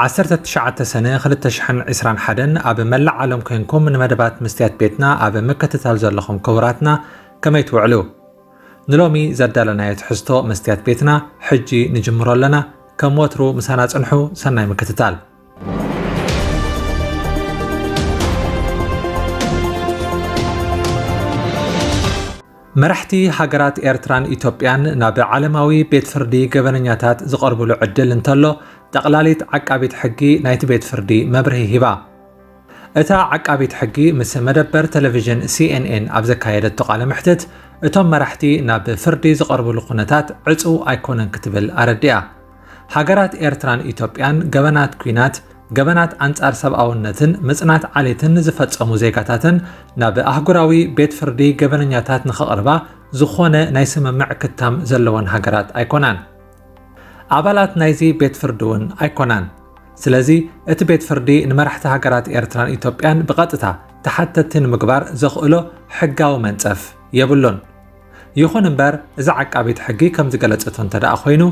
ዓሰርተ ትሽዓተ ሰነ ክልተ ሽሕን ዕስራን ሓደን ኣብ መላእ ዓለም ኮንኩም ንመደባት መስትያት ቤትና ኣብ ምክትታል ዘለኹም ክቡራትና ከመይ ትውዕሉ? ንሎሚ ዘዳለናዮ ትሕዝቶ መስትያት ቤትና ሕጂ ንጅምሮ ኣለና። ከም ወትሩ ምሳና ጽንሑ፣ ሰናይ ምክትታል። መራሕቲ ሃገራት ኤርትራን ኢትዮጵያን ናብ ዓለማዊ ቤት ፍርዲ ገበነኛታት ዝቐርብሉ ዕድል እንተሎ፣ ጠቕላሊት ዓቃቢት ሕጊ ናይቲ ቤት ፍርዲ መብርሂ ሂባ። እታ ዓቃቢት ሕጊ ምስ መደበር ቴሌቪዥን ሲኤንኤን ኣብ ዘካየደቶ ቃለ መሕትት፣ እቶም መራሕቲ ናብ ፍርዲ ዝቐርብሉ ኩነታት ዕጹው ኣይኮነን ክትብል ኣረዲኣ። ሃገራት ኤርትራን ኢትዮጵያን ገበናት ኲናት፣ ገበናት ኣንጻር ሰብኣውነትን ምጽናት ዓሌትን ንዝፈጸሙ ዜጋታተን ናብ ኣህጉራዊ ቤት ፍርዲ ገበነኛታት ንኸቕርባ ዝኾነ ናይ ስምምዕ ክታም ዘለወን ሃገራት ኣይኮናን። ኣባላት ናይዚ ቤት ፍርዲ እውን ኣይኮናን። ስለዚ እቲ ቤት ፍርዲ ንመራሕቲ ሃገራት ኤርትራን ኢትዮጵያን ብቐጥታ ተሓተትቲ ንምግባር ዘኽእሎ ሕጋዊ መንጸፍ የብሉን። ይኹን እምበር፣ እዚ ዓቃቢት ሕጊ ከም ዝገለጸቶ እንተ ደኣ ኮይኑ፣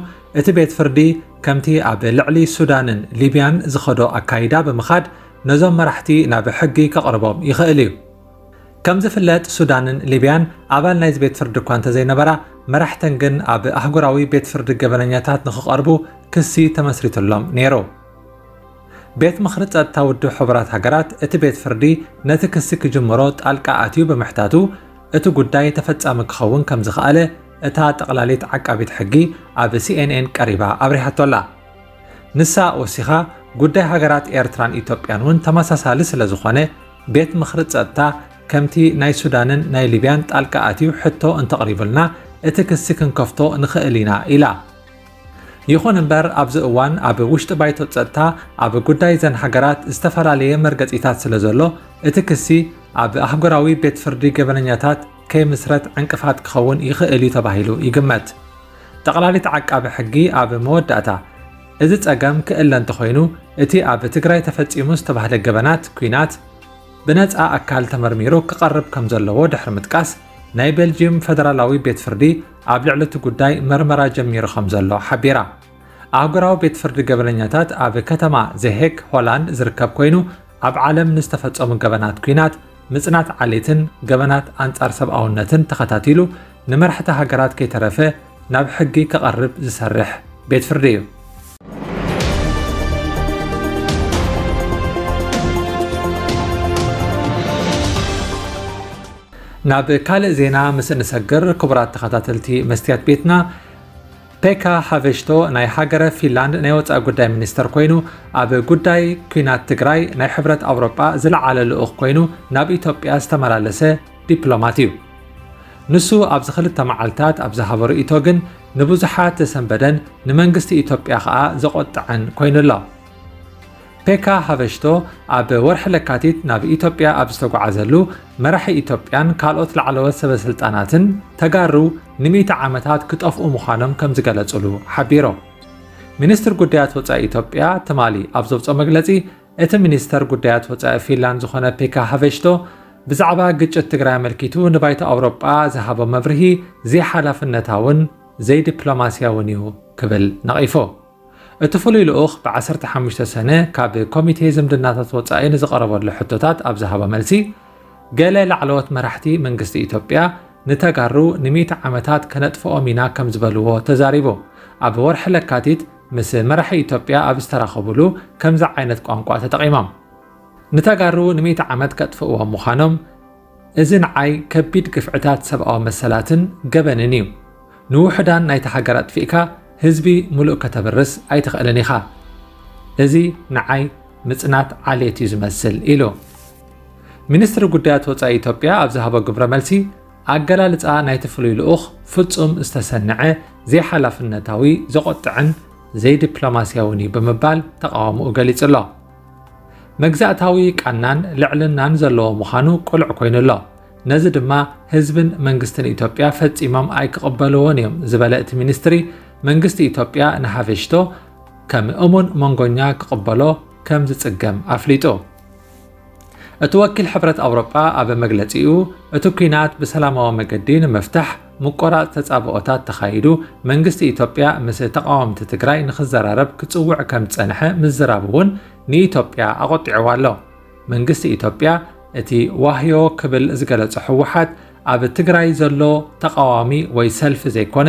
እቲ ቤት ፍርዲ ከምቲ ኣብ ልዕሊ ሱዳንን ሊብያን ዝኸዶ ኣካይዳ ብምኻድ ነዞም መራሕቲ ናብ ሕጊ ከቕርቦም ይኽእል እዩ። ከም ዝፍለጥ፣ ሱዳንን ሊብያን ኣባል ናይዚ ቤት ፍርዲ እኳ እንተዘይነበራ፣ መራሕተን ግን ኣብ ኣህጉራዊ ቤት ፍርዲ ገበነኛታት ንኽቐርቡ ክሲ ተመስሪትሎም ነይሩ። ቤት ምኽሪ ጸጥታ ውድብ ሕቡራት ሃገራት እቲ ቤት ፍርዲ ነቲ ክሲ ክጅምሮ ጣልቃ ኣትዩ ብምሕታቱ፣ እቲ ጉዳይ ተፈጻሚ ክኸውን ከም ዝኸኣለ እታ ጠቕላሊት ዓቃቢት ሕጊ ኣብ ሲኤንኤን ቀሪባ ኣብሪሃቶ ኣላ። ንሳ ወሲኻ፣ ጉዳይ ሃገራት ኤርትራን ኢትዮጵያን እውን ተመሳሳሊ ስለ ዝኾነ፣ ቤት ምኽሪ ጸጥታ ከምቲ ናይ ሱዳንን ናይ ሊብያን ጣልቃ ኣትዩ ሕቶ እንተቕሪቡልና፣ እቲ ክሲ ክንከፍቶ ንኽእል ኢና ኢላ። ይኹን እምበር፣ ኣብዚ እዋን ኣብ ውሽጢ ባይቶ ጸጥታ ኣብ ጉዳይ እዘን ሃገራት ዝተፈላለየ መርገጺታት ስለ ዘሎ፣ እቲ ክሲ ኣብ ኣህጉራዊ ቤት ፍርዲ ገበነኛታት ከይምስረት ዕንቅፋት ክኸውን ይኽእል እዩ ተባሂሉ ይግመት። ጠቕላሊት ዓቃቢ ሕጊ ኣብ መወዳእታ፣ እዚ ጸገም ክእለ እንተኾይኑ፣ እቲ ኣብ ትግራይ ተፈጺሙ ዝተባህለ ገበናት ኲናት ብነጻ ኣካል ተመርሚሩ ክቐርብ ከም ዘለዎ ድሕሪ ምጥቃስ፣ ናይ ቤልጅየም ፈደራላዊ ቤት ፍርዲ ኣብ ልዕሊ እቲ ጉዳይ መርመራ ጀሚሩ ከም ዘሎ ሓቢራ። ኣህጉራዊ ቤት ፍርዲ ገበነኛታት ኣብ ከተማ ዘሄግ ሆላንድ ዝርከብ ኮይኑ፣ ኣብ ዓለም ንዝተፈጸሙ ገበናት ኲናት፣ ምጽናት ዓሌትን ገበናት ኣንጻር ሰብኣውነትን ተኸታቲሉ፣ ንመራሕቲ ሃገራት ከይተረፈ ናብ ሕጊ ከቐርብ ዝሰርሕ ቤት ፍርዲ እዩ። ናብ ካልእ ዜና ምስ እንሰግር፣ ክቡራት ተኸታተልቲ መስትያት ቤትና፣ ፔካ ሃቨሽቶ ናይ ሃገረ ፊንላንድ ናይ ወጻኢ ጉዳይ ሚኒስተር ኮይኑ፣ ኣብ ጉዳይ ኲናት ትግራይ ናይ ሕብረት ኣውሮጳ ዝለዓለ ልኡኽ ኮይኑ ናብ ኢትዮጵያ ዝተመላለሰ ዲፕሎማት እዩ። ንሱ ኣብዚ ክልተ መዓልታት ኣብ ዝሃቦ ርእይቶ ግን ንብዙሓት ዘሰንበደን ንመንግስቲ ኢትዮጵያ ከኣ ዘቖጥዐን ኮይኑ ኣሎ። ፔካ ሃቨሽቶ ኣብ ወርሒ ለካቲት ናብ ኢትዮጵያ ኣብ ዝተጓዓዘሉ፣ መራሒ ኢትዮጵያን ካልኦት ላዕለዎት ሰበ ስልጣናትን ተጋሩ ንሚእቲ ዓመታት ክጠፍኡ ምዃኖም ከም ዝገለጹሉ ሓቢሩ። ሚኒስትር ጉዳያት ወጻኢ ኢትዮጵያ ትማሊ ኣብ ዘውጽኦ መግለጺ፣ እቲ ሚኒስተር ጉዳያት ወጻኢ ፊንላንድ ዝኾነ ፔካ ሃቨሽቶ ብዛዕባ ግጭት ትግራይ ኣመልኪቱ ንባይቶ ኣውሮጳ ዝሃቦ መብርሂ ዘይሓላፍነታውን ዘይዲፕሎማስያውን እዩ ክብል ነቒፉ። እቲ ፍሉይ ልኡኽ ብ ዓሰርተ ሓሙሽተ ሰነ ካብ ኮሚቴ ዝምድናታት ወጻኢ ንዝቐረበሉ ሕቶታት ኣብ ዝሃቦ መልሲ፣ ገለ ላዕለዎት መራሕቲ መንግስቲ ኢትዮጵያ ንተጋሩ ንሚእቲ ዓመታት ከነጥፍኦም ኢና ከም ዝበልዎ ተዛሪቡ። ኣብ ወርሒ ለካቲት ምስ መራሒ ኢትዮጵያ ኣብ ዝተራኸቡሉ ከምዚ ዓይነት ቋንቋ ተጠቒሞም። ንተጋሩ ንሚእቲ ዓመት ከጥፍእዎም ምዃኖም፣ እዚ ንዓይ ከቢድ ግፍዕታት ሰብኣዊ መሰላትን ገበንን እዩ። ንውሑዳን ናይቲ ሃገር ኣጥፊእካ ህዝቢ ሙሉእ ከተብርስ ኣይትኽእልን ኢኻ። እዚ ንዓይ ምጽናት ዓሌት እዩ ዝመስል ኢሉ። ሚኒስትሪ ጉዳያት ወጻኢ ኢትዮጵያ ኣብ ዝሃቦ ግብረ መልሲ፣ ኣገላልጻ ናይቲ ፍሉይ ልኡኽ ፍጹም ዝተሰንዐ፣ ዘይሓላፍነታዊ፣ ዘቖጥዕን ዘይዲፕሎማስያውን እዩ ብምባል ተቓውሞኡ ገሊጹ ኣሎ። መግዛእታዊ ቃናን ልዕልናን ዘለዎ ምዃኑ ቅሉዕ ኮይኑ ኣሎ። ነዚ ድማ ህዝብን መንግስትን ኢትዮጵያ ፈጺሞም ኣይክቕበልዎን እዮም ዝበለ እቲ ሚኒስትሪ፣ መንግስቲ ኢትዮጵያ ንሃቨሽቶ ከም እሙን መንጎኛ ክቕበሎ ከም ዝጽገም ኣፍሊጡ። እቲ ወኪል ሕብረት ኣውሮጳ ኣብ መግለጺኡ፣ እቲ ኲናት ብሰላማዊ መገዲ ንምፍታሕ ምቆራጽ ተጻብኦታት ተኻይዱ፣ መንግስቲ ኢትዮጵያ ምስ ተቓወምቲ ትግራይ ንኽዘራረብ ክጽውዕ ከም ዝጸንሐ ምዝራቡ እውን ንኢትዮጵያ ኣቖጢዕዋ ኣሎ። መንግስቲ ኢትዮጵያ እቲ ዋህዮ ክብል ዝገለጾ ህወሓት ኣብ ትግራይ ዘሎ ተቓዋሚ ወይ ሰልፊ ዘይኮነ፣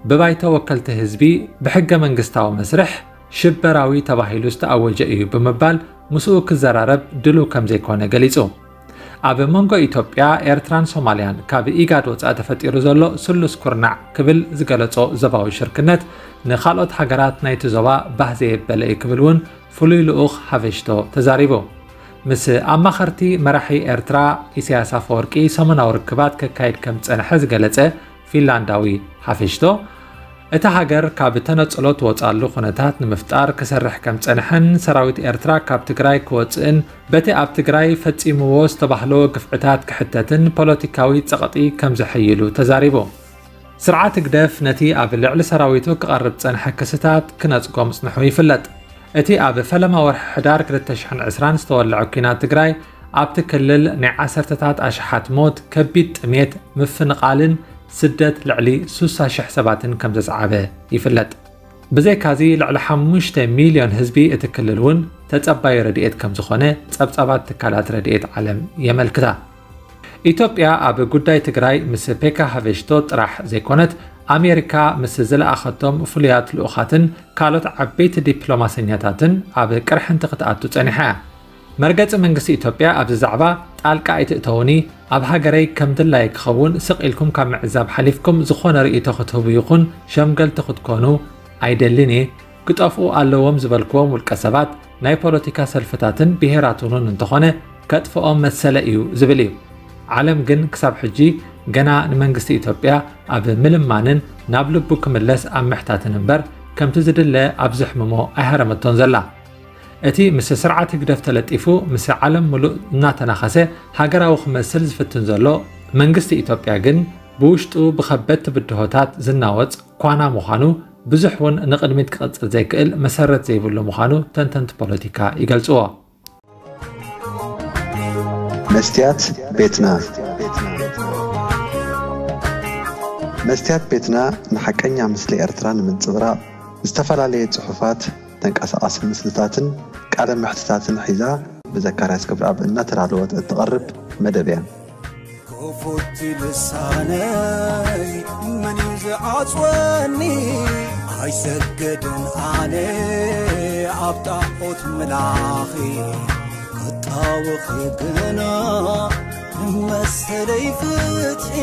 ብባይቶ ወከልቲ ህዝቢ ብሕገ መንግስታዊ መስርሕ ሽበራዊ ተባሂሉ ዝተኣወጀ እዩ ብምባል ምስኡ ክዘራረብ ድሉው ከም ዘይኮነ ገሊጹ። ኣብ መንጎ ኢትዮጵያ፣ ኤርትራን ሶማልያን ካብ ኢጋድ ወጻኢ ተፈጢሩ ዘሎ ስሉስ ኩርናዕ ክብል ዝገለጾ ዞባዊ ሽርክነት ንኻልኦት ሃገራት ናይቲ ዞባ ባህ ዘየበለ እዩ ክብል እውን ፍሉይ ልኡኽ ሓፈሽቶ ተዛሪቡ። ምስ ኣማኸርቲ መራሒ ኤርትራ ኢሳያስ ኣፈወርቂ ሰሙናዊ ርክባት ከካይድ ከም ዝጸንሐ ዝገለጸ ፊንላንዳዊ ሓፈሽቶ፣ እታ ሃገር ካብ ተነጽሎ ትወጻሉ ኩነታት ንምፍጣር ክሰርሕ ከም ዝጸንሐን ሰራዊት ኤርትራ ካብ ትግራይ ክወጽእን በቲ ኣብ ትግራይ ፈጺምዎ ዝተባህሎ ግፍዕታት ክሕተትን ፖለቲካዊ ጸቕጢ ከም ዘሐይሉ ተዛሪቡ። ስርዓት ህግደፍ ነቲ ኣብ ልዕሊ ሰራዊቱ ክቐርብ ዝጸንሐ ክስታት ክነጽጎ ምጽንሑ ይፍለጥ። እቲ ኣብ ፈለማ ወርሒ ሕዳር ክልተ ሽሕን ዕስራን ዝተወልዐ ኲናት ትግራይ ኣብቲ ክልል ናይ ዓሰርተታት ኣሽሓት ሞት፣ ከቢድ ጥሜት፣ ምፍንቓልን ስደት ልዕሊ ስሳ ሽሕ ሰባትን ከም ዘስዓበ ይፍለጥ። ብዘይካዚ ልዕሊ ሓሙሽተ ሚልዮን ህዝቢ እቲ ክልል እውን ተጸባዩ ረድኤት ከም ዝኾነ ጸብጻባት ትካላት ረድኤት ዓለም የመልክታ። ኢትዮጵያ ኣብ ጉዳይ ትግራይ ምስ ፔካ ሃፈሽቶ ጥራሕ ዘይኮነት፣ ኣሜሪካ ምስ ዝለኣኸቶም ፍሉያት ልኡኻትን ካልኦት ዓበይቲ ዲፕሎማሰኛታትን ኣብ ቅርሕንቲ ክትኣቱ ጸኒሓ እያ። መርገጺ መንግስቲ ኢትዮጵያ ኣብዚ ዛዕባ ጣልቃ ኣይትእተውኒ፣ ኣብ ሃገረይ ከም ድላየ ክኸውን ስቕ ኢልኩም ካብ ምዕዛብ ሓሊፍኩም ዝኾነ ርእይቶ ክትህቡ ይኹን ሸምገልቲ ክትኮኑ ኣይደልን እየ። ክጠፍኡ ኣለዎም ዝበልክዎም ውልቀ ሰባት፣ ናይ ፖለቲካ ሰልፍታትን ብሄራትን እውን እንተኾነ ከጥፍኦም መሰለ እዩ ዝብል እዩ። ዓለም ግን ክሳብ ሕጂ ገና ንመንግስቲ ኢትዮጵያ ኣብ ምልማንን ናብ ልቡ ክምለስ ኣብ ምሕታትን እምበር ከምቲ ዝድለ ኣብ ዘሕምሞ ኣይሃረመቶን ዘላ። እቲ ምስ ስርዓት ህግደፍ ተለጢፉ ምስ ዓለም ምሉእ እናተናኸሰ ሃገራዊ ክመስል ዝፍትን ዘሎ መንግስቲ ኢትዮጵያ ግን ብውሽጡ ብኸበድቲ ብድሆታት ዝናወጽ ኳና ምዃኑ ብዙሕ እውን ንቕድሚት ክቕጽል ዘይክእል መሰረት ዘይብሉ ምዃኑ ተንተንቲ ፖለቲካ ይገልጽዎ። መስትያት ቤትና መስትያት ቤትና ንሓቀኛ ምስሊ ኤርትራ ንምንጽብራቕ ዝተፈላለየ ጽሑፋት፣ ተንቀሳቓሲ ምስልታትን ቃለ መሕትታትን ሒዛ ብዘካርያስ ገብረኣብ እናተዳለወት እትቐርብ መደብ እያ። ክፉት ልሳነይ መን እዩ ዝዓጽወኒ? ኣይሰገድን ኣነ ኣብ ጣዖት ምላኺ ክጣወኺ ግና ንመሰለይ ፍትሒ